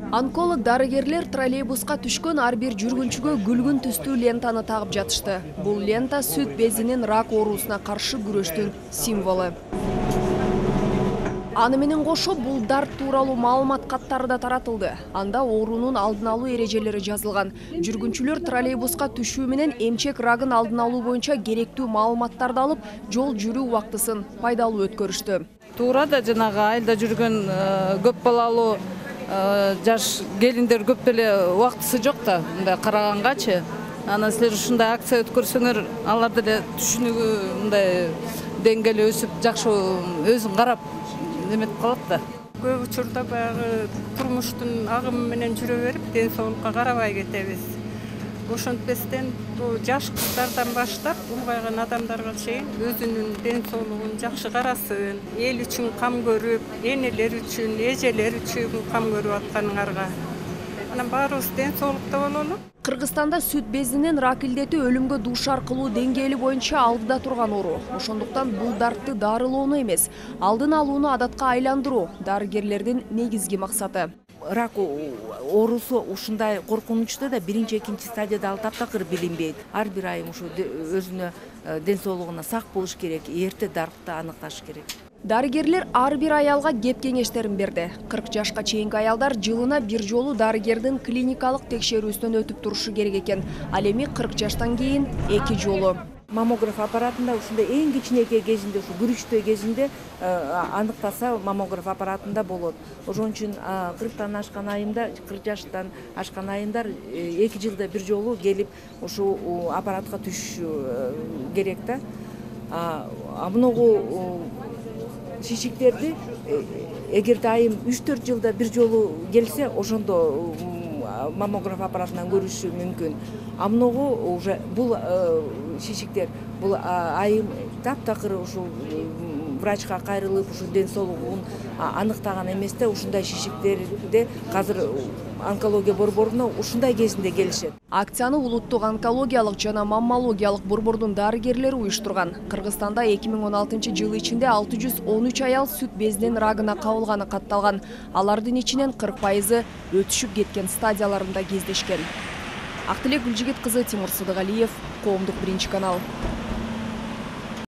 Онколог дарыгерлер троллейбуска түшкөн ар бир жүргүнчүгө күлгүн түстүү лентаны тагып жатышты. Бул лента сүт безинин рак оорусуна каршы күрөштүн символу. Аны менен кошо бул дарт тууралуу маалымат каттары да таратылды. Анда оорунун алдын алуу эрежелери жазылган. Жүргүнчүлөр троллейбуска түшүү менен эмчек рагын алдын алуу боюнча керектүү маалыматтарды алып, жол жүрүү убактысын пайдалуу өткөрүштү. Туура да жанагы айылда жүргөн көп балалуу жаш келиндер көп деле убактысы жок да, мындай карагангачы. Анан силер ушундай акция өткөрсөңөр, алар деле түшүнүгү мындай деңгээли өсүп, жакшы өзүн карап неметип калат да. Көп учурда баягы турмуштун агымы менен жүрө берип, ден соолукка карабай кетебиз. Ошентпестен бул жаш кыздардан баштап улгайган адамдарга чейин өзүнүн ден соолугун жакшы карасын, эл үчүн кам көрүп, энелер үчүн, эжелер үчүн кам көрүп атканыңарга. Анан баарыбыз ден соолукта бололу. Кыргызстанда сүт безинин рак илдети өлүмгө дуушар кылуу деңгээли боюнча алдыда турган оору. Ошондуктан бул дартты дарылоону эмес, алдын алууну адатка айландыруу дарыгерлердин негизги максаты. Рак оорусу ушундай коркунучта да биринчи, экинчи стадияда ал таптакыр билинбейт. Ар бир айым ушу өзүнө ден соолугуна сак болуш керек, эрте дартты аныкташ керек. Дарыгерлер ар бир аялга кеп кеңештерин берди. 40 жашка чейинки аялдар жылына бир жолу дарыгердин клиникалык текшерүүсүнөн өтүп турушу керек экен. Ал эми 40 жаштан кийин 2 жолу. Маммограф аппаратында ушундай эң кичинекей кезинде, ушу күрүчтөө кезинде аныктаса маммограф аппаратында болот. Ошон үчүн 40 жаштан ашкан айымдар 2 жылда бир жолу келип ушул аппаратка түшүш керек да. Многу шишиктерди эгерде айым 3-4 жылда бир жолу келсе, ошондо маммограф аппаратынан көрүшү мүмкүн. Многу уже бул шишиктер бул айым таптакыр ушул врачка кайрылып, ушул ден соолугун аныктаган эместе, ушундай шишиктерде азыр онкология борборуна ушундай кезинде келишет. Акцияны улуттук онкологиялык жана маммологиялык борбордун дарыгерлери уюштурган. Кыргызстанда 2016 жылы ичинде 613 аял сүт безинин рагына кабылганы катталган. Алардын ичинен 40% өтүшүп кеткен стадияларында кездешкен. Актилек Гүлжигит кызы, Тимур Сыдыгалиев, Коомдук биринчи канал.